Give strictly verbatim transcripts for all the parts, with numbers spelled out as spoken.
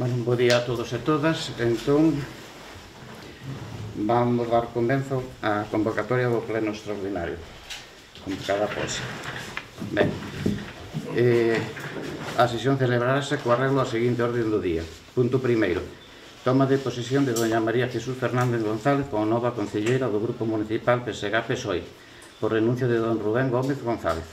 Bueno, un bo día a todos e todas. Entón, vamos dar comenzo á convocatoria do pleno extraordinario, convocada após. Ben, eh, a sesión celebrarase co arreglo a seguinte orden do día. Punto primeiro, toma de posesión de doña María Jesús Fernández González como nova concelleira do Grupo Municipal P S G P S O E, por renuncio de don Rubén Gómez González.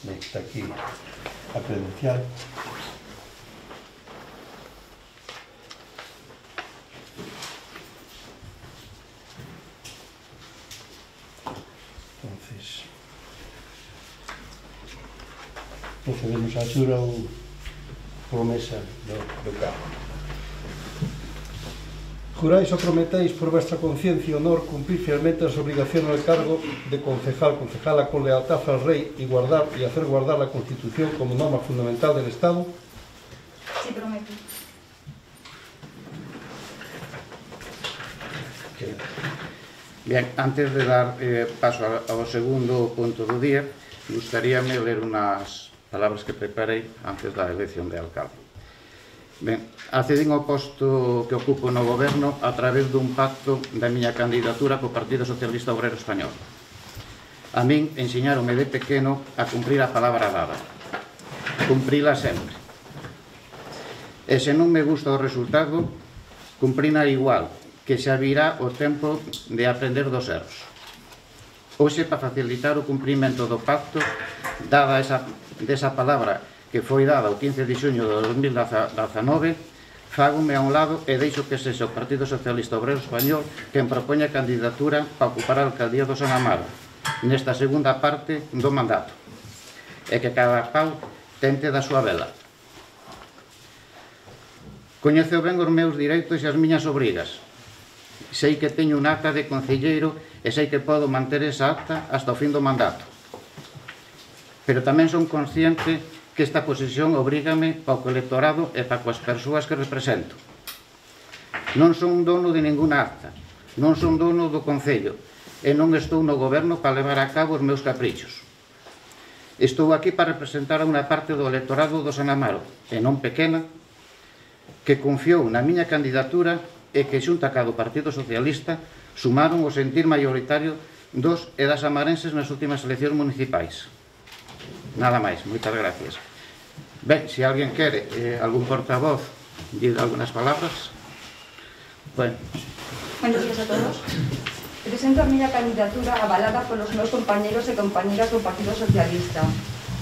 Ben, está aquí a credencial. Entonces, procedemos a xura ou promesa do, do cargo. Juráis o prometéis por vuestra conciencia e honor cumplir fielmente as obligaciones del cargo de concejal, concejala con lealtad al rey y guardar y hacer guardar la Constitución como norma fundamental del Estado? Sí, prometo. Bien, antes de dar eh, paso ao segundo punto do día, gustaríame ler unhas palabras que preparei antes da elección de alcalde. Ben, accedín ao posto que ocupo no goberno a través dun pacto da miña candidatura co Partido Socialista Obrero Español. A min ensiñaronme de pequeno a cumprir a palabra dada, cumprila sempre. E se non me gusta o resultado, cumprina igual, que xa virá o tempo de aprender dos erros. Hoxe, para facilitar o cumprimento do pacto, dada esa, desa palabra que foi dada o quince de xuño de dos mil dezanove, fágome a un lado e deixo que sexa o Partido Socialista Obrero Español quen propoña a candidatura para ocupar a alcaldía do San Amaro nesta segunda parte do mandato, e que cada pau tente da súa vela. Coñeceu ben os meus direitos e as miñas obrigas. Sei que teño un acta de concelleiro e sei que podo manter esa acta hasta o fin do mandato. Pero tamén son consciente que esta posición obrígame ao electorado e para coas persoas que represento. Non son dono de ninguna acta, non son dono do Concello e non estou no goberno para levar a cabo os meus caprichos. Estou aquí para representar a unha parte do electorado do San Amaro, e non pequena, que confiou na miña candidatura e que xunta ca do Partido Socialista sumaron o sentir mayoritario dos e das amarenses nas últimas eleccións municipais. Nada máis, moitas gracias. Ben, se alguén quere, eh, algún portavoz, dir algunas palabras. Bueno. Buenos días a todos. Presento a miña candidatura avalada polos meus compañeros e compañeras do Partido Socialista.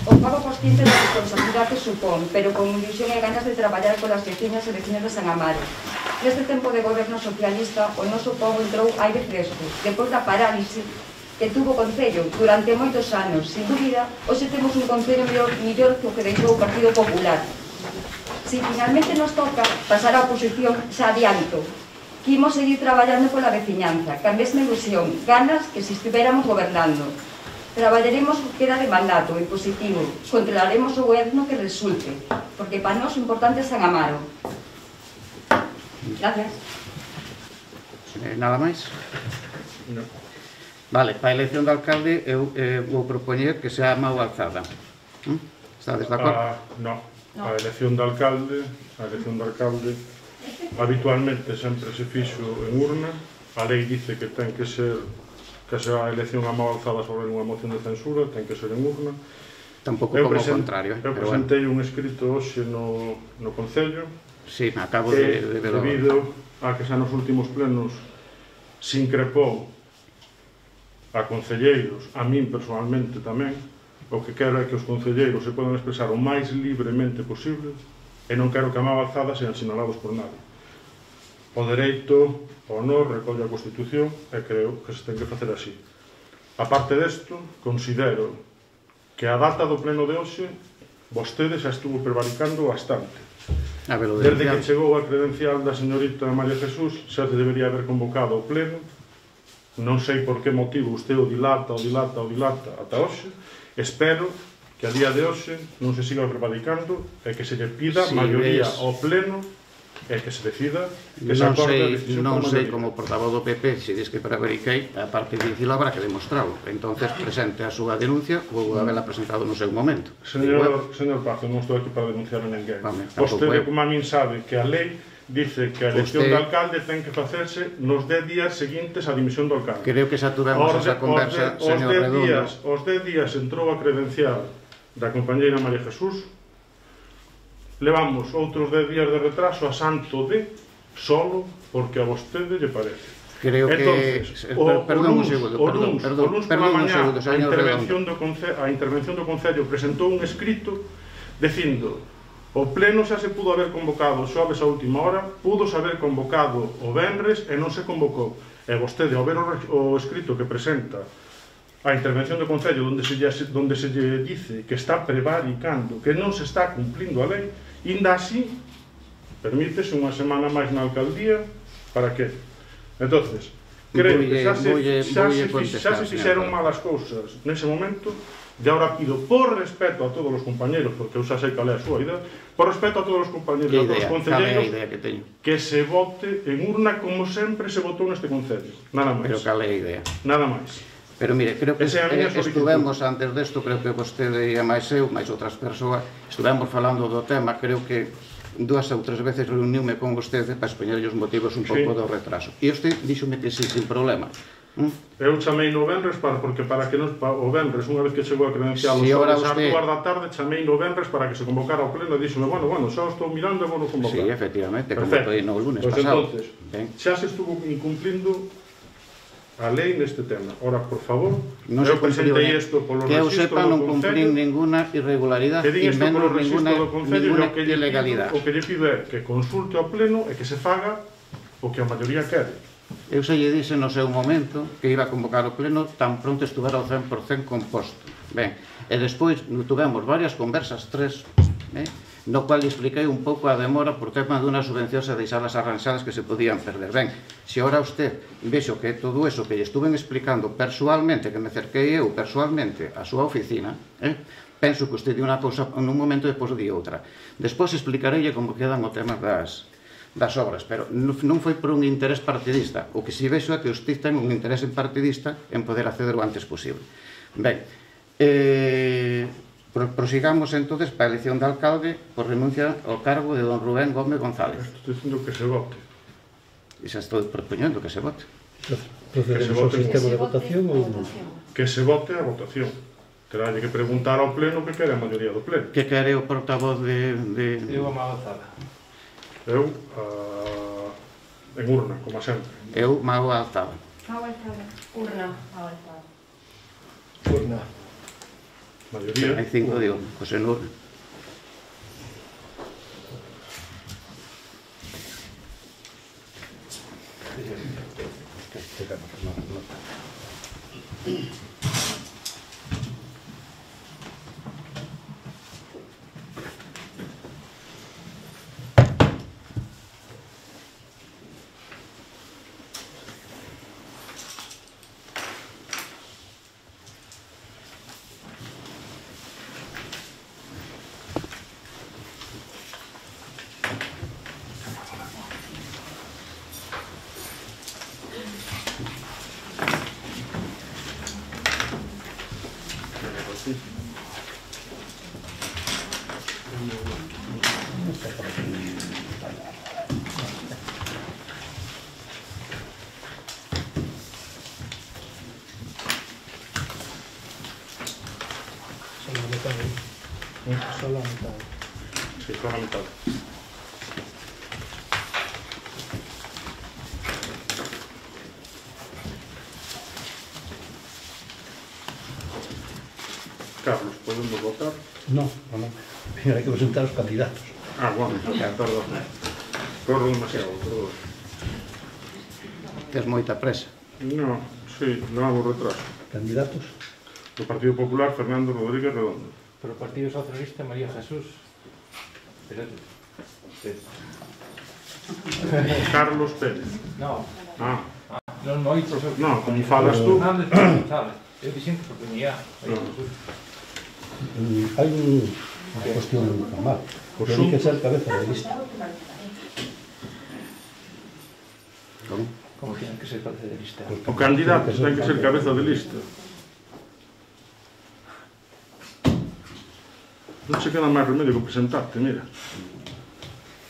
O pago consciente da responsabilidade que supón, pero con ilusión e ganas de traballar polas veciñas e veciños de San Amaro. Neste tempo de goberno socialista, o noso pobo entrou aire fresco, depois da parálise que tuvo o Concello durante moitos anos. Sin dúbida, hoxe temos un Concello mellor, mellor que o que deixou o Partido Popular. Si finalmente nos toca pasar a oposición, xa adianto que imos seguir traballando pola veciñanza, que a mesma ilusión, ganas que se estivéramos gobernando. Traballaremos o que queda de mandato e positivo, controlaremos o goberno que resulte, porque para nós o importante é San Amaro. Gracias. Eh, nada máis? No. Vale, para a elección de alcalde eu eh, vou propoñer que sea Mau Alzada. ¿Mm? Estades de acordo? Ah, no. A elección de alcalde, a elección de alcalde habitualmente sempre se fixo en urna. A lei dice que ten que ser que sea a elección a Mau Alzada sobre unha moción de censura, ten que ser en urna. Tampouco Eu como o present, contrario. Eu pero presentei bueno. un escrito hoxe no, no Concello. Sí, me acabo que, de, de ver. debido a que xa nos últimos plenos se increpou a concelleiros, a min personalmente tamén, o que quero é que os concelleiros se podan expresar o máis libremente posible e non quero que a Mau Alzada sean sinalados por nadie. O dereito, o honor, recolle a Constitución e creo que se ten que facer así. A parte desto, considero que a data do pleno de hoxe vostede xa estuvo prevaricando bastante. Desde que chegou a credencial da señorita María Jesús xa se debería haber convocado o pleno. Non sei por que motivo usted o dilata, o dilata, o dilata ata hoxe. Espero que a día de hoxe non se siga prevaricando e que se lle pida si maioría ves, ao pleno e que se decida que se Non acorde a sei, decisión non por sei maioría. como portavoz do P P, se diz que prevariquei, a parte de dicilo habrá que demostrarlo. Entonces presente a súa denuncia, vou habela presentado no seu momento. Señor, señor Pazo, non estou aquí para denunciar a ninguén. Vale, Vostede, tampouco como a min, sabe que a lei dice que a elección Usted- de alcalde ten que facerse nos dez días seguintes á dimisión do alcalde. Creo que xa tuvemos Os de- esa conversa, os de- señor os dez Redondo. días, os dez días entrou a credencial da compañeira María Jesús. Levamos outros dez días de retraso a santo de solo porque a vostede lle parece. Creo que... Entonces, per- o, perdón un o luns, segundo, o perdón, luns, perdón, o luns perdón pola un mañá, segundo, a señor intervención, Redondo. do conce, a intervención do Concello presentou un escrito dicindo o pleno xa se pudo haber convocado xoves a última hora, pudo se haber convocado o venres e non se convocou. E vostede, ao ver o, o escrito que presenta a intervención do Concello onde se, lle, donde se lle dice que está prevaricando, que non se está cumplindo a lei, inda así permítese unha semana máis na alcaldía, para que? Entonces, creo que xa se, Voulle- xa voulle se, contestar, xa se señor. fixeron malas cousas nese momento, e agora pido por respeto a todos os compañeros, porque eu xa sei cal é a súa idea, por respeto a todos os compañeros Que e a todos idea? os Cal é a concelleiros, idea que teño? que se vote en urna como sempre se votou neste Concello. Nada máis. Pero cal é a idea? Nada máis. Pero mire, creo que Esa é a miña eh, solicitud. estuvemos antes desto, creo que vostede e máis eu, máis outras persoas, estuvemos falando do tema, creo que dúas ou tres veces reuniume con vostede para expoñerlle os motivos un pouco Sí. do retraso. E usted díxome que sí, sin problema. ¿Mm? Eu chamei no venres para, porque para que nos, pa, o venres, unha vez que chegou a credencial Si os ahora xoves usted- ás dúas da tarde, chamei no venres para que se convocara ao pleno e díxome, bueno, bueno, xa o estou mirando e vou no convocar. Sí, efectivamente, como Perfecto. foi no lunes Pois pasado. entonces, Ben. xa se estuvo incumplindo a lei neste tema. Ora, por favor, Non eu se cumpliu, presentei eh. isto polo Que eu registro sepa, do non cumplí Concello, ninguna irregularidade que din e isto polo menos ninguna, registro do Concello, e ninguna o que lle pido, ilegalidade. o que lle pido é que consulte ao pleno e que se faga o que a maioría quere. Eu xa lle dixe no seu momento que iba a convocar o pleno tan pronto estuvera ao cen por cen composto. Ben, e despois tuvemos varias conversas, tres, eh, no cual expliquei un pouco a demora por tema dunhas subvencións e deixalas arranxadas que se podían perder. Ben, se ora usted vexo que todo eso que lle estuven explicando persoalmente, que me cerquei eu persoalmente a súa oficina, eh, penso que usted di unha cousa nun momento e depois di outra. Despois explicareille como quedan o tema das das obras, pero non foi por un interés partidista. O que si vexo é que usted ten un interés partidista en poder acceder o antes posible. Ben, eh, prosigamos entonces para a elección de alcalde por renuncia ao cargo de don Rubén Gómez González. Estou dicindo que se vote. E xa estou propoñendo que se vote. Procedemos ao sistema de votación ou non? Que se vote a votación. Terá que preguntar ao pleno que quere a maioría do pleno. Que quere o portavoz de... de... Eu a Magazada. Eu, uh, en urna, como sempre. Eu, Mago Alzada. Urna. Avanzada. Urna. Maioría. Hai cinco, digo, José Nur. Solo a mitad, eh? Solo a mitad. Sí, con a mitad. Carlos, podemos votar? No, no, no. Pero hai que presentar os candidatos. Ah, bueno, Ya, perdón. corro demasiado, perdón. Tes moita presa. No, sí, levamos retraso. Candidatos? Do Partido Popular, Fernando Rodríguez Redondo. Pero o Partido Socialista, María Jesús. Espérate. Espérate. Carlos Pérez. No, Ah, non moito. no, como falas tú. Fernández González. Eu dixen que oportunidade. María No. Jesús. Mm, Hai un, unha cuestión normal. Pois Ten un- que ser cabeza de lista. Como tiene que ser cabeza de lista? O candidato ten que ser cabeza de lista. Non se queda máis remedio que presentarte, mira.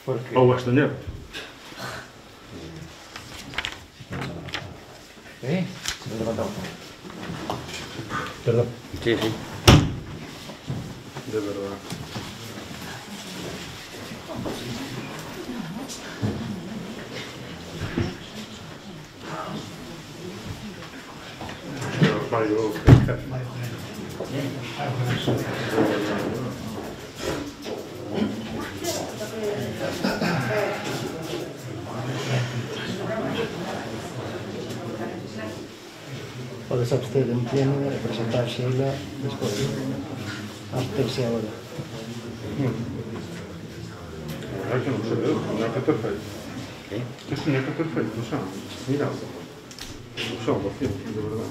Porque... Ou absteñerte. ¿Eh? Se me levanta un poco. Perdón. Sí, sí. De verdad. Vai o Podes abster en pleno e presentar Sheila despois. Absterse agora. É que non sei, non é que ter feito. Que tiña que ter feito, xa. Mira. Xa, por fin, de verdade.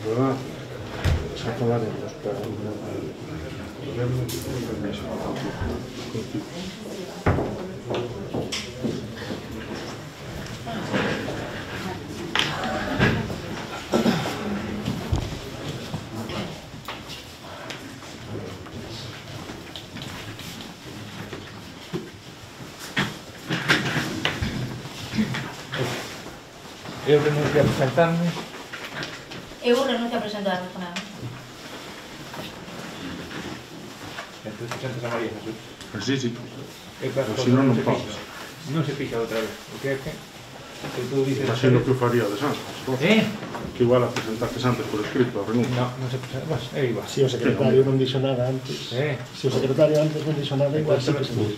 De verdade. Xa falaremos, pero... Eu renuncio a presentarme. Eu renuncio a presentarme con ela. Entón presentas a María Jesús. Sí, sí. E claro, Pero si non, non se podes. fixa. Non se fixa outra vez. O que é que... Que tú dices... Imagino que o faríades antes. Eh? Que igual a presentaste antes por escrito, a renuncia. No, non se presenta. Pues, é igual. Se o secretario non dixo nada antes... Eh? Se o secretario antes non dixo nada, igual sí que se non.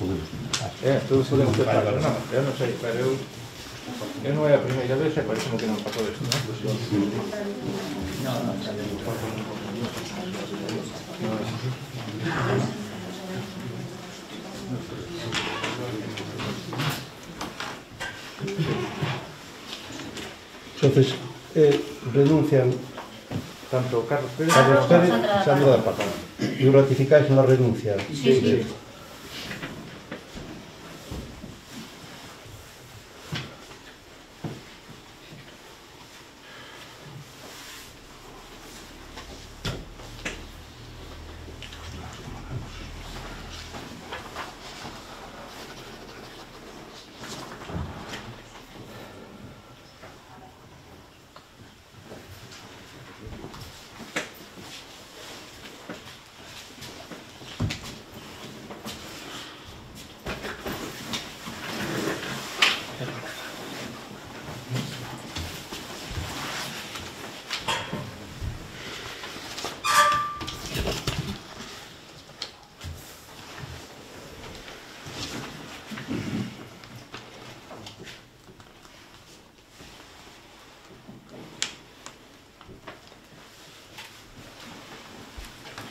Eh, todos podemos pensar, pero non, eu non sei, pero eu... Eu non é a primeira vez e parece que non pasou isto, non? Non, non, Entonces, eh, renuncian tanto Carlos Pérez... Carlos Pérez e Sandra da Pata. E ratificáis na renuncia. Sí, sí.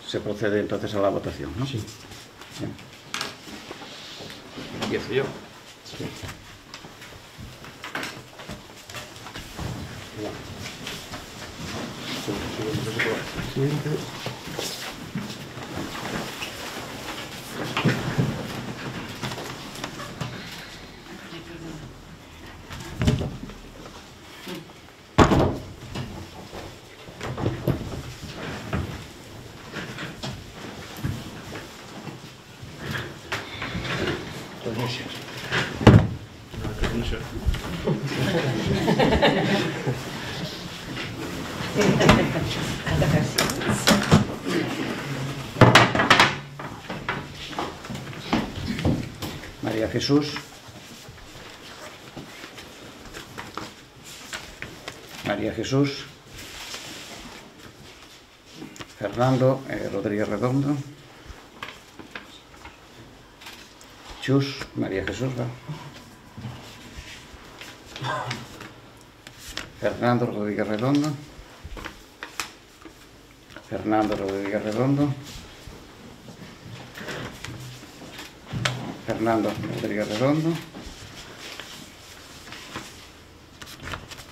Se procede entonces a la votación, ¿no? Sí. Bien. Empiezo yo. Sí. Siguiente. Renuncias. Renuncia. María Jesús. María Jesús. Fernando eh, Rodríguez Redondo. Chus, María Jesús, ¿va? Fernando Rodríguez Redondo. Fernando Rodríguez Redondo. Fernando Rodríguez Redondo.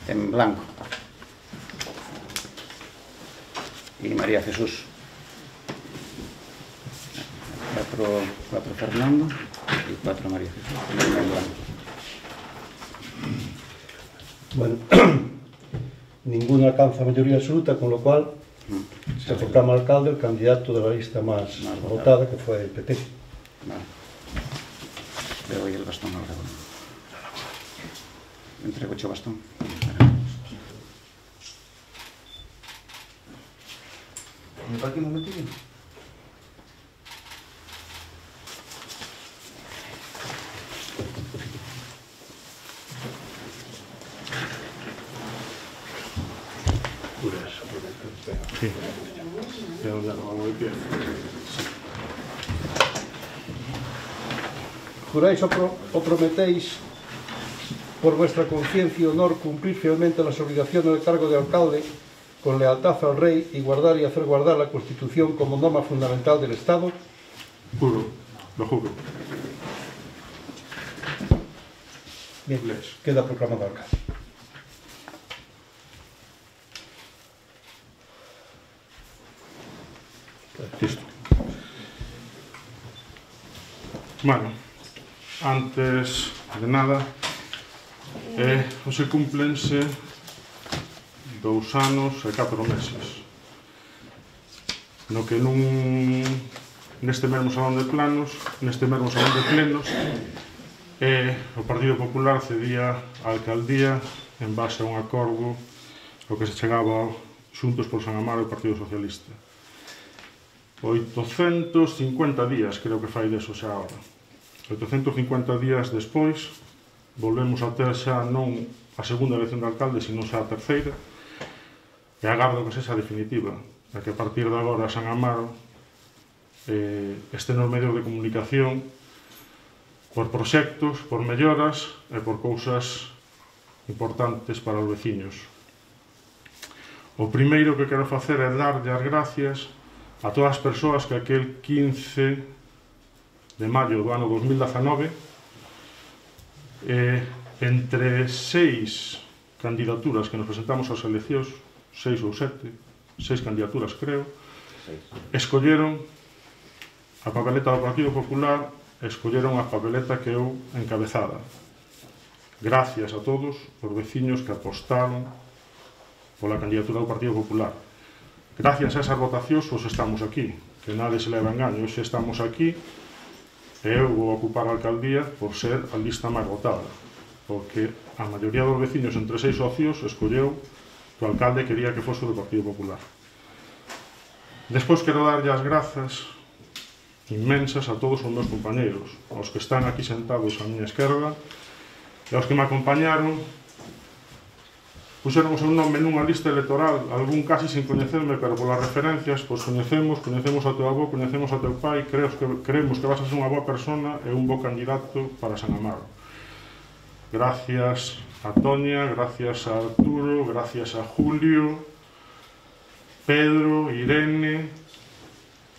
En blanco. Y María Jesús. Cuatro, cuatro Fernando. E cuatro María Jesús. Bueno, ninguno alcanza mayoría absoluta, con lo cual se proclama alcalde el candidato de la lista más, más votada, que fue el P P. Vale. Le doy el bastón al Aragón. Entrego el bastón. ¿Me para aquí un momentillo? Sí. Ya no vamos de pie. Juráis o, pro, o prometéis por vuestra conciencia y honor cumplir fielmente las obligaciones del cargo de alcalde con lealtad al rey y guardar y hacer guardar la Constitución como norma fundamental del Estado? Juro, lo juro. Bien, queda proclamado alcalde. Listo. Bueno, antes de nada, eh, hoxe cúmplense dous anos e catro meses no que nun neste mesmo salón de planos neste mesmo salón de plenos eh, o Partido Popular cedía a alcaldía en base a un acordo o que se chegaba Xuntos por San Amaro e o Partido Socialista. oitocentos cincuenta días creo que fai deso xa ahora. oitocentos cincuenta días despois volvemos a ter xa non a segunda elección de alcalde, sino xa a terceira, e agardo que sexa definitiva, a que a partir de agora San Amaro eh, este nos medios de comunicación por proxectos, por melloras e por cousas importantes para os veciños. O primeiro que quero facer é darlle as gracias a todas as persoas que aquel quince de maio do ano dos mil dezanove eh, entre seis candidaturas que nos presentamos ás eleccións, seis ou sete, seis candidaturas creo, escolleron a papeleta do Partido Popular, escolleron a papeleta que eu encabezada. Gracias a todos os veciños que apostaron pola candidatura do Partido Popular. Gracias a esas votacións, hoxe estamos aquí, que nade se leva engaño, hoxe estamos aquí e eu vou ocupar a alcaldía por ser a lista máis votada, porque a maioría dos veciños entre seis socios escolleu que o alcalde quería que fose do Partido Popular. Despois quero darlle as grazas inmensas a todos os meus compañeiros, aos que están aquí sentados á miña esquerda e aos que me acompañaron. Puxeron o seu nome nunha lista electoral, algún casi sin coñecerme, pero polas referencias, pois coñecemos, coñecemos a teu avó, coñecemos a teu pai, creemos que, creemos que vas a ser unha boa persona e un bo candidato para San Amaro. Gracias a Toña, gracias a Arturo, gracias a Julio, Pedro, Irene,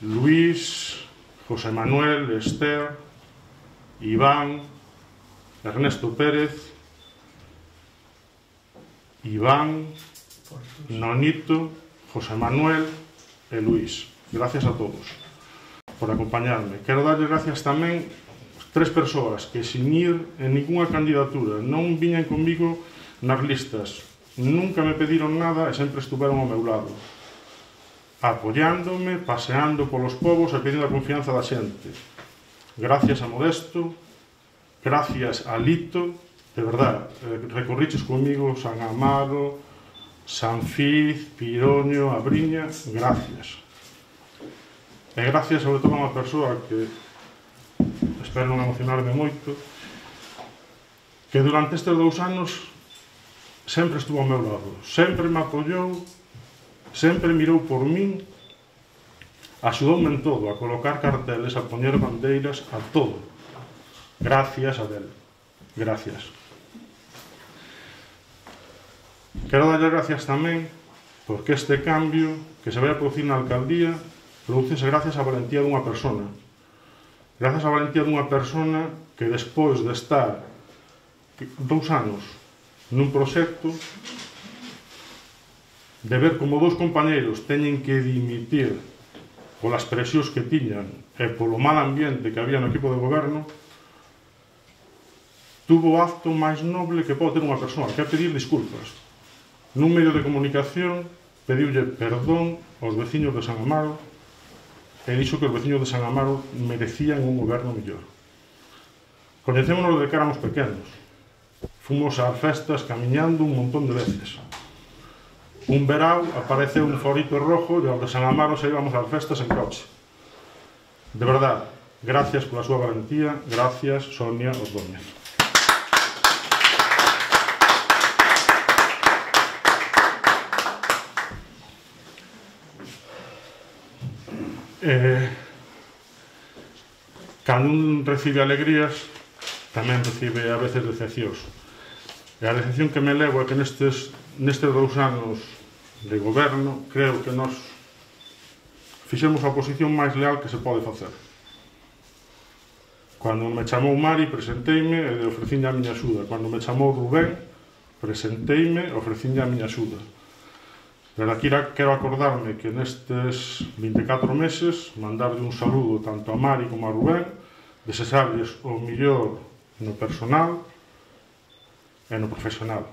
Luis, José Manuel, Esther, Iván, Ernesto Pérez, Iván, Nonito, José Manuel e Luis. Gracias a todos por acompañarme. Quero darles gracias tamén a tres persoas que sin ir en ninguna candidatura non viñan comigo nas listas, nunca me pediron nada e sempre estuveron ao meu lado, apoiándome, paseando polos povos e pedindo a confianza da xente. Gracias a Modesto, gracias a Lito, de verdad, recorriches comigo San Amaro, San Fiz, Piroño, Abriña, gracias. E gracias sobre todo a unha persoa que espero non emocionarme moito, que durante estes dous anos sempre estuvo ao meu lado, sempre me apoiou, sempre mirou por min, axudoume en todo, a colocar carteles, a poñer bandeiras, a todo. Gracias a del. Gracias. Quero darlle gracias tamén porque este cambio que se vai a producir na alcaldía producese gracias á valentía dunha persona. Gracias á valentía dunha persona que despois de estar dous anos nun proxecto, de ver como dous compañeiros teñen que dimitir polas presións que tiñan e polo mal ambiente que había no equipo de goberno, tuvo o acto máis noble que pode ter unha persoa, que é pedir disculpas. Nun medio de comunicación pediulle perdón aos veciños de San Amaro e dixo que os veciños de San Amaro merecían un goberno mellor. Coñecémonos de que éramos pequenos. Fomos ás festas camiñando un montón de veces. Un verao apareceu un forito rojo e aos de San Amaro se íbamos ás festas en coche. De verdade, gracias pola súa valentía, gracias, Sonia Ordóñez. Eh, cando un recibe alegrías, tamén recibe a veces decepcións. E a decepción que me levo é que nestes, nestes dous anos de goberno, creo que nos fixemos a oposición máis leal que se pode facer. Cando me chamou Mari, presenteime e ofrecinlle a miña axuda. Cando me chamou Rubén, presenteime e ofrecinlle a miña axuda. Pero aquí quero acordarme que nestes vinte e catro meses mandarlle un saludo tanto a Mari como a Rubén, desexarles o mellor no personal e no profesional.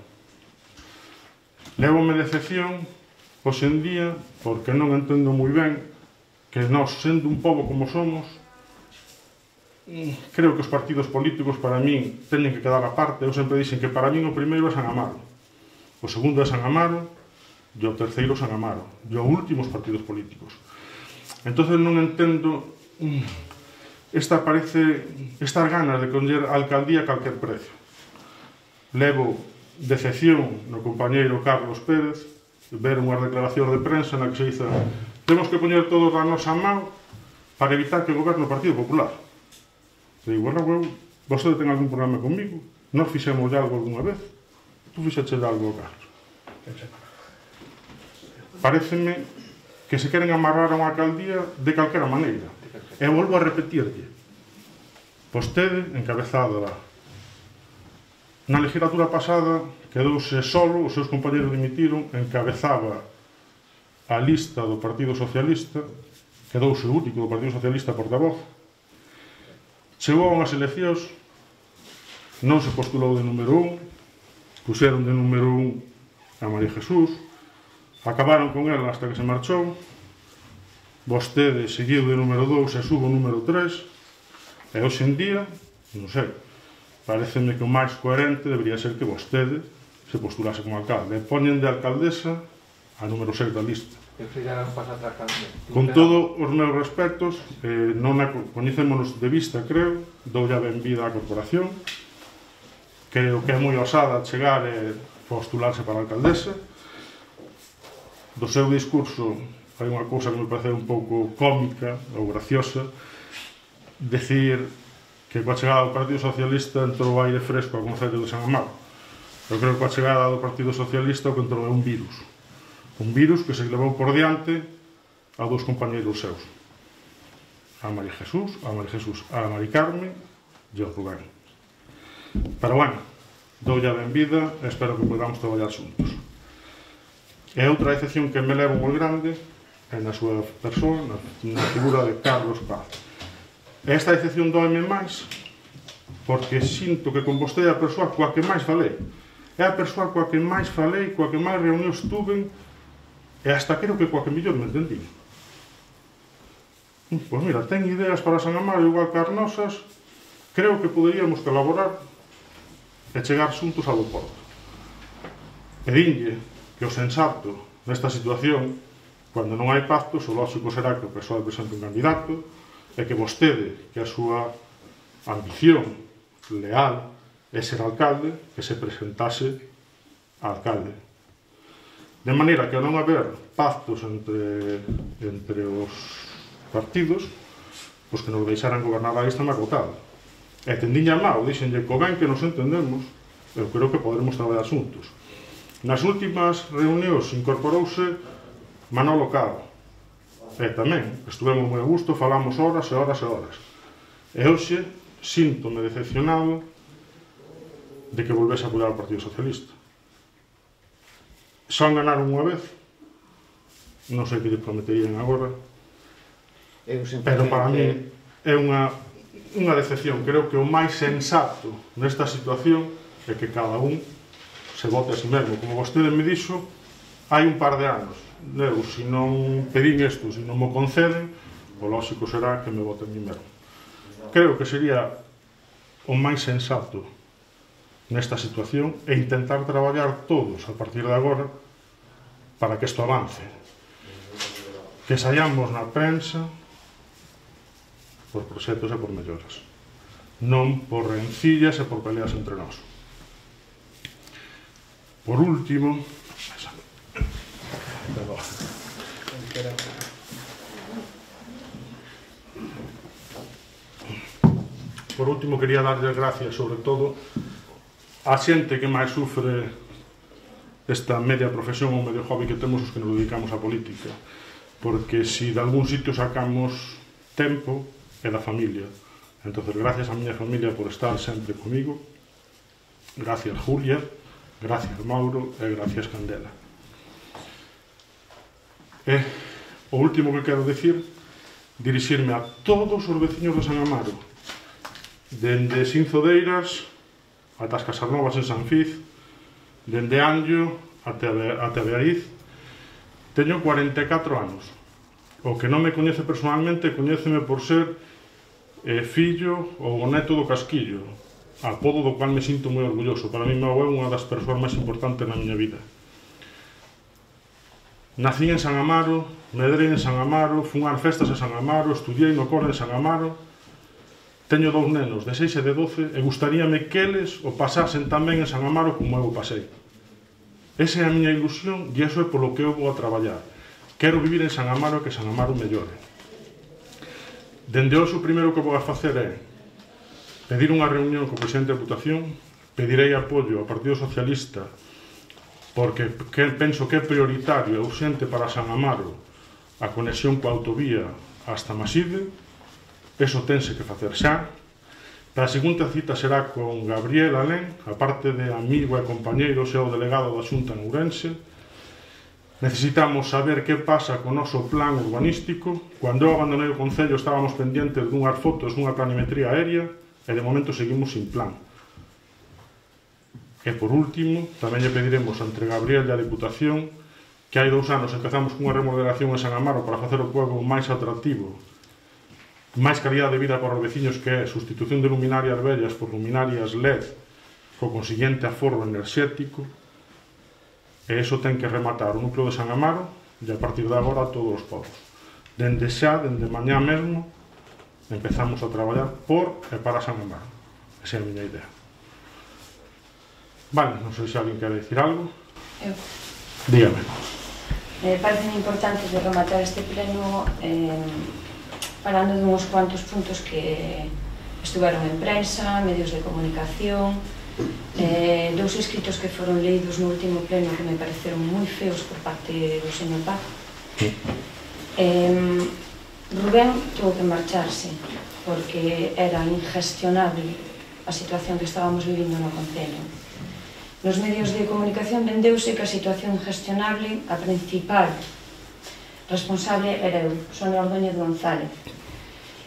Levome decepción hoxe en día porque non entendo moi ben que nós, sendo un pobo como somos, creo que os partidos políticos para min teñen que quedar aparte. Eu sempre dixen que para min o primeiro é San Amaro, o segundo é San Amaro e o terceiro San Amaro, e o último os partidos políticos. Entonces non entendo esta parece estas ganas de coller a alcaldía a calquer precio. Levo decepción no compañeiro Carlos Pérez, ver unhas declaracións de prensa na que se dice temos que poñer todos a nosa mão para evitar que goberne o Partido Popular. E digo, bueno, eu, vostede ten algún problema comigo? Nós fixemos algo algunha vez? Tú fixeche algo, Carlos? Pareceme que se queren amarrar a unha alcaldía de calquera maneira. E volvo a repetirlle. Vostede, encabezada na legislatura pasada, quedouse solo, os seus compañeros dimitiron, encabezaba a lista do Partido Socialista, quedouse o único do Partido Socialista portavoz. Chegou a unhas eleccións, non se postulou de número un, puseron de número un a María Jesús, acabaron con ela hasta que se marchou, vostede seguiu de número dous e subo número tres, e hoxe en día, non sei, pareceme que o máis coherente debería ser que vostede se postulase como alcalde, e poñen de alcaldesa a número seis da lista. Con todos os meus respetos, eh, non a coñecémonos de vista, creo, doulle a benvida á corporación, creo que é moi osada chegar e postularse para a alcaldesa. Do seu discurso hai unha cousa que me parece un pouco cómica ou graciosa, decir que coa chegada do Partido Socialista entrou aire fresco ao Concello de San Amaro. Eu creo que coa chegada do Partido Socialista o que entrou é un virus. Un virus que se levou por diante a dous compañeiros seus. A María Jesús, a María Jesús, a Mari Carmen e ao Rubén. Pero bueno, doulle a benvida e espero que podamos traballar xuntos. E outra excepción que me levo moi grande é na súa persoa, na figura de Carlos Paz. E esta excepción doeme máis porque sinto que con vostede é a persoa coa que máis falei. É a persoa coa que máis falei, coa que máis reunións tuve e hasta creo que coa que mellor me entendí. Pois mira, ten ideas para San Amaro igual que as nosas, creo que poderíamos colaborar e chegar xuntos ao porto. E dinlle que o sensato nesta situación, cando non hai pactos, o lógico será que o P S O E presente un candidato e que vostede, que a súa ambición leal é ser alcalde, que se presentase a alcalde. De maneira que ao non haber pactos entre, entre os partidos, pois que nos deixaran gobernar a lista máis votada. E tendiña mal, dixenlle co ben que nos entendemos, eu creo que poderemos traballar xuntos. Nas últimas reunións incorporouse Manolo Cabo. E tamén, estuvemos moi a gusto, falamos horas e horas e horas. E hoxe, síntome decepcionado de que volvese a apoiar o Partido Socialista. Só ganaron unha vez, non sei que lle prometerían agora, pero para mí é unha unha decepción. Creo que o máis sensato nesta situación é que cada un se vote a si mesmo. Como vostede me dixo, hai un par de anos. Eu, se non pedín isto, se non mo conceden, o lógico será que me vote a mí mesmo. Creo que sería o máis sensato nesta situación e intentar traballar todos a partir de agora para que isto avance. Que saiamos na prensa por proxectos e por melloras, non por rencillas e por peleas entre nós. Por último, por último quería darlle gracias sobre todo á xente que máis sufre esta media profesión ou medio hobby que temos os que nos dedicamos á política, porque se de algún sitio sacamos tempo é da familia. Entonces, gracias a miña familia por estar sempre comigo, gracias Julia, gracias Mauro e gracias Candela. E o último que quero dicir, dirixirme a todos os veciños de San Amaro, dende Sinzodeiras ata as Casarnovas en San Fiz, dende Anllo até a Beaiz. Teño cuarenta e catro anos. O que non me coñece personalmente coñéceme por ser eh, fillo ou neto do Casquillo, apodo do cual me sinto moi orgulloso. Para mí, meu é unha das persoas máis importantes na miña vida. Nací en San Amaro, medrei en San Amaro, fun ás festas a San Amaro, estudiei no cole de San Amaro. Teño dous nenos de seis e de doce e gustaríame que eles o pasasen tamén en San Amaro como eu o pasei. Esa é a miña ilusión e iso é polo que eu vou a traballar. Quero vivir en San Amaro e que San Amaro mellore. Dende hoxe o primeiro que vou a facer é pedir unha reunión co presidente da Deputación, pedirei apoio ao Partido Socialista porque penso que é prioritario e urxente para San Amaro a conexión coa autovía hasta Maside. Eso tense que facer xa. Para a segunda cita será con Gabriel Alén, a parte de amigo e compañeiro, xa o delegado da Xunta en Ourense. Necesitamos saber que pasa co noso plan urbanístico. Cando eu abandonei o Concello estábamos pendientes dunhas fotos dunha planimetría aérea e de momento seguimos sin plan. E por último, tamén lle pediremos entre Gabriel e a Deputación que hai dous anos empezamos cunha remodelación en San Amaro para facer o pueblo máis atractivo, máis calidad de vida para os veciños, que é sustitución de luminarias vellas por luminarias L E D co consiguiente aforro enerxético. E iso ten que rematar o núcleo de San Amaro e a partir de agora todos os povos. Dende xa, dende mañá mesmo, empezamos a traballar por e para San Amaro. Esa é a miña idea. Vale, non sei se alguén quere dicir algo. Eu. Dígame. Me parece importante de rematar este pleno eh, falando de uns cuantos puntos que estuveron en prensa, medios de comunicación, eh, dous escritos que foron leídos no último pleno que me pareceron moi feos por parte do señor Paz. Eh, Rubén tuvo que marcharse porque era ingestionable a situación que estábamos vivindo no Concello. Nos medios de comunicación vendeuse que a situación ingestionable, a principal responsable era eu, Sonia Ordóñez González,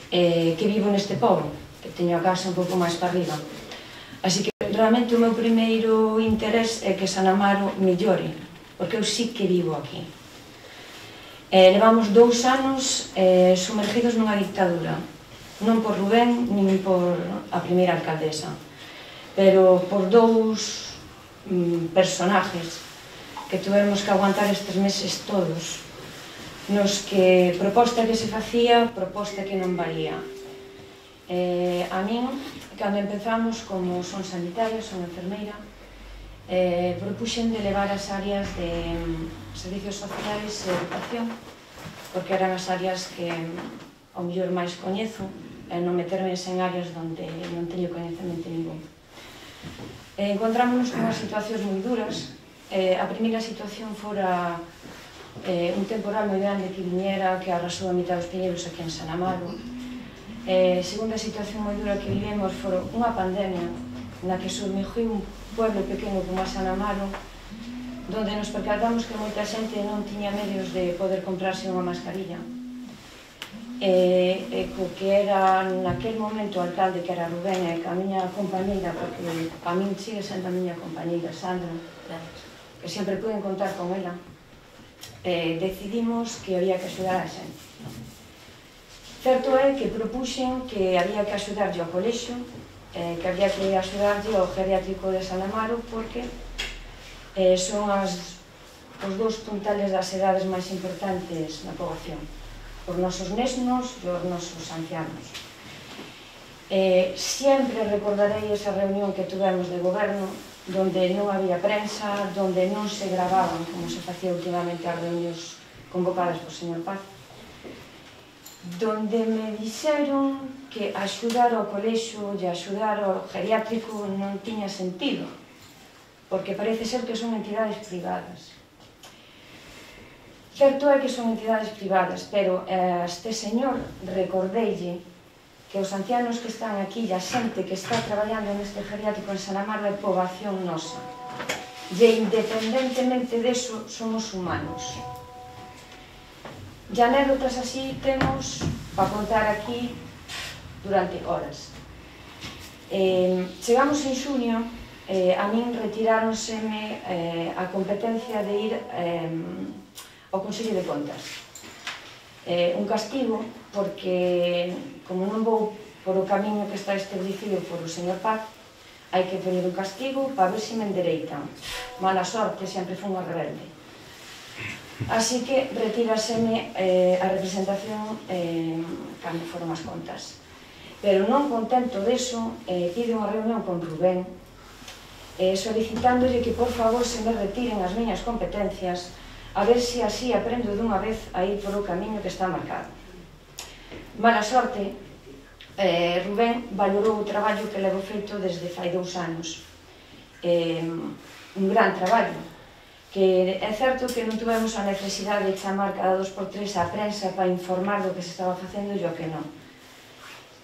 eh, que vivo neste pobo, que teño a casa un pouco máis para arriba. Así que realmente o meu primeiro interés é que San Amaro mellore, porque eu sí que vivo aquí. Eh, levamos dous anos eh, sumergidos nunha dictadura, non por Rubén, nin por a primeira alcaldesa, pero por dous mm, personajes que tuvemos que aguantar estes meses todos, nos que proposta que se facía, proposta que non valía. Eh, a min, cando empezamos, como son sanitaria, son enfermeira, eh, propuxen de levar as áreas de mm, servicios sociais e educación, porque eran as áreas que mm, ao mellor máis coñezo, e non meterme en áreas onde non teño coñecemento ningún. Eh, encontrámonos con unhas situacións moi duras. Eh, a primeira situación fora eh, un temporal moi grande que viñera, que arrasou a mitad dos piñeiros aquí en San Amaro. Eh, segunda situación moi dura que vivemos foi unha pandemia na que surmigiu un pueblo pequeno como a San Amaro, donde nos percatamos que moita xente non tiña medios de poder comprarse unha mascarilla. e, e co que era naquel momento o alcalde, que era Rubén, e que a miña compañeira, porque a min sigue sendo a miña compañeira, Sandra, que sempre pueden contar con ela, eh, decidimos que había que axudar a xente. Certo é que propuxen que había que axudarlle ao colexio, eh, que había que axudarlle ao geriátrico de San Amaro, porque eh, son as, os dous puntales das edades máis importantes na poboación, os nosos nesnos e os nosos ancianos. Eh, sempre recordarei esa reunión que tuvemos de goberno, donde non había prensa, donde non se gravaban, como se facía últimamente as reunións convocadas por señor Paz, donde me dixeron que axudar ao colexio e axudar ao geriátrico non tiña sentido, porque parece ser que son entidades privadas. Certo é que son entidades privadas, pero a este señor recordeille que os ancianos que están aquí e a xente que está traballando neste geriátrico en San Amaro é poboación nosa. E independentemente deso, somos humanos. E anécdotas así temos para contar aquí durante horas. Eh, chegamos en xuño, eh, a min retiráronseme eh, a competencia de ir eh, ao Consello de Contas. Eh, un castigo, porque como non vou por o camiño que está establecido por o señor Paz, hai que poñer un castigo para ver se me endereitan. Mala sorte, sempre fui unha rebelde. Así que retíraseme eh, a representación eh, cando foron as contas. Pero non contento deso, eh, pide unha reunión con Rubén, eh, solicitándolle que por favor se me retiren as miñas competencias, a ver se así aprendo dunha vez a ir por o camiño que está marcado. Mala sorte, eh, Rubén valorou o traballo que levo feito desde fai dous anos. Eh, un gran traballo, que é certo que non tuvemos a necesidade de chamar cada dos por tres a prensa para informar do que se estaba facendo e o que non.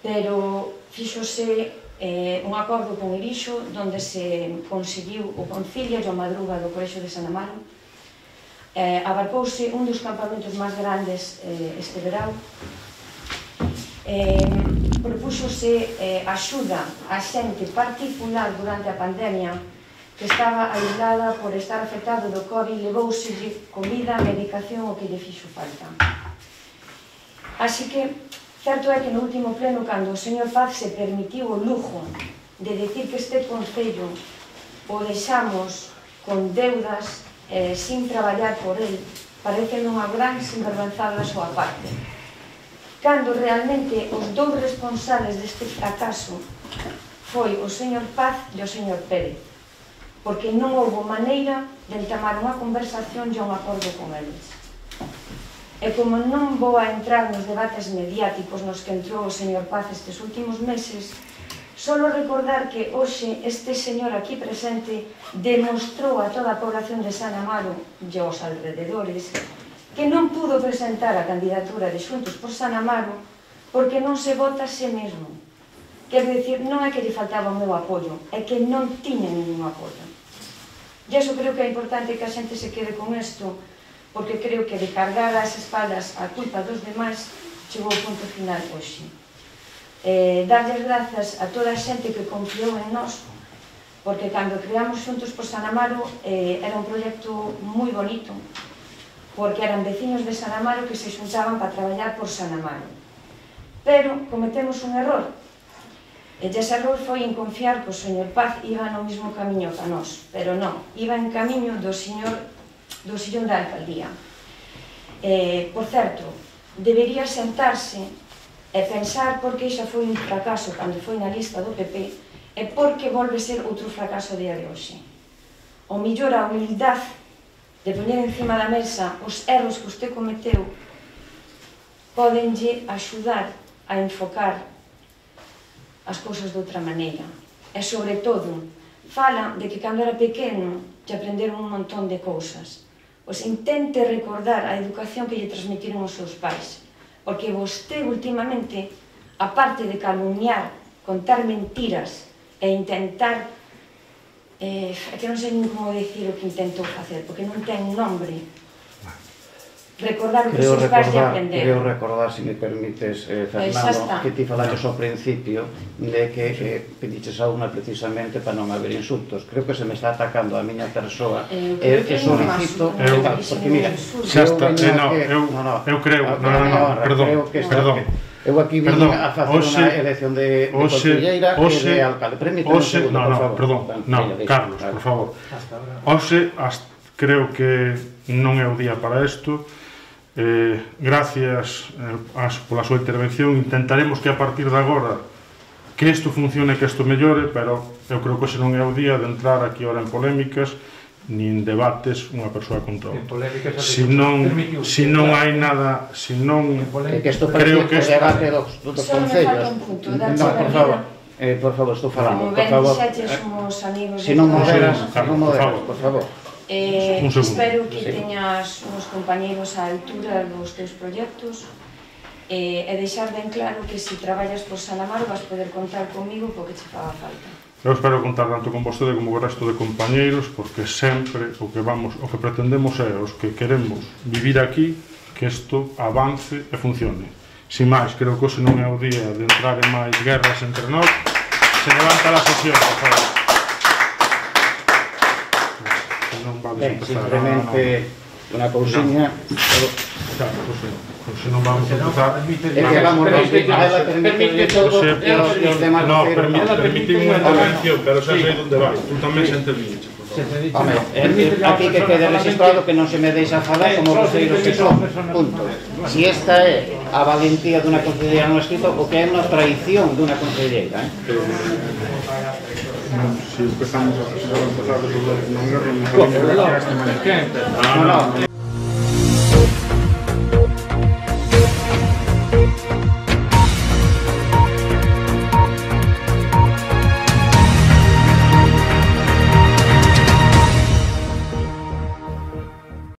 Pero fíxose eh, un acordo con Irixo, onde se conseguiu o concilio e a madruga do Colexio de San Amaro. Eh, abarcouse un dos campamentos máis grandes eh, este verão. Eh, propúxose eh, axuda a xente particular durante a pandemia que estaba aislada por estar afectado do COVID, levouselle comida, medicación, o que lle fixo falta. Así que, certo é que no último pleno, cando o señor Paz se permitiu o lujo de decir que este concello o deixamos con deudas Eh, sin traballar por el, parece unha gran sinvergüenzada da súa parte. Cando realmente os dous responsables deste fracaso foi o señor Paz e o señor Pérez, porque non houve maneira de entamar unha conversación e un acordo con eles. E como non vou a entrar nos debates mediáticos nos que entrou o señor Paz estes últimos meses, solo recordar que hoxe este señor aquí presente demostrou a toda a población de San Amaro e aos alrededores que non pudo presentar a candidatura de Xuntos por San Amaro porque non se vota a sí mesmo. Quer dicir, non é que lle faltaba o meu apoio, é que non tiña ningún apoio. E iso creo que é importante que a xente se quede con isto, porque creo que de cargar as espaldas a culpa dos demais chegou ao punto final hoxe. Eh, darles grazas a toda a xente que confiou en nós, porque cando creamos Xuntos por San Amaro eh, era un proxecto moi bonito, porque eran veciños de San Amaro que se xuntaban para traballar por San Amaro. Pero cometemos un error, e ese error foi en confiar que o señor Paz iba no mesmo camiño que a nós, pero non, iba en camiño do señor do sillón da alcaldía. Eh, por certo, debería sentarse e pensar por que xa foi un fracaso cando foi na lista do P P e por que volve ser outro fracaso día de hoxe. O mellor a humildade de poñer encima da mesa os erros que usted cometeu podenlle axudar a enfocar as cousas de outra maneira. E, sobre todo, fala de que cando era pequeno lle aprenderon un montón de cousas. Pois intente recordar a educación que lle transmitiron os seus pais. Porque vostede, últimamente, aparte de calumniar, contar mentiras e intentar, eh, que non sei nin como decir o que intentou facer, porque non ten nombre, recordar o que Creo sus pais lle recordar, aprenderon. creo recordar, se me permites, eh, Xa Fernando, está. que ti falaches ao principio de que eh, pediches a unha precisamente para non haber insultos. Creo que se me está atacando a miña persoa Eu e, creo e que non solicito, máis, eu- tal, porque mira, Xa eu está, veño eh, no, aquí- eu- eu creo, a- no, no, no, honra, perdón, creo que está- perdón. Eu aquí vim Perdón, a facer hoxe- unha elección de, de hoxe- conselleira e hoxe- de alcalde. Permíteme un Hoxe, segundo, no, por no, favor. perdón, Ben, no, veña, deixa, Carlos, claro. por favor. Hoxe, hasta, creo que non é o día para isto. Eh, gracias eh, as, pola súa intervención. Intentaremos que a partir de agora que isto funcione, que isto mellore, pero eu creo que hoxe non é o día de entrar aquí ahora en polémicas nin debates unha persoa contra En outra. polémicas, Si non, permitiu- si non hai nada, si non É que isto creo parece que que o esta- debate dos, dos Só me concellos. falta un punto, darche No, a por vida. favor. Eh, por favor, estou falando, Como por ben favor. dixeches, Eh, somos amigos Si non de toda a moderas, vida. si Carlos, non por moderas, favor. por favor. Eh, Un segundo. espero que Sí. teñas uns compañeiros á altura dos teus proxectos eh, e deixar ben claro que se traballas por Salamaro vas poder contar comigo porque che faga falta. Eu espero contar tanto con vostede como co resto de compañeiros, porque sempre o que vamos, o que pretendemos é os que queremos vivir aquí, que isto avance e funcione. Sin máis, creo que hoxe non é o día de entrar en máis guerras entre nós. Se levanta a sesión, por favor. Non vamos Ben, empezar. simplemente unha cousiña. Claro, José, José, non vamos a empezar. É que vamos a ela permite todo José, e os e os demás no, voceiros permi- non. permitime unha intervención, pero xa sei onde vai. Tú tamén se interviñeche, por favor. Home, eh, aquí que quede registrado que non se me deixa falar como voceiros que son. Punto. Si esta é a valentía dunha conselleira non escrito, o que é unha traición dunha conselleira, eh? Si empezamos a empezar a resolver non guerra, non sabemos que é este manequén. No, no.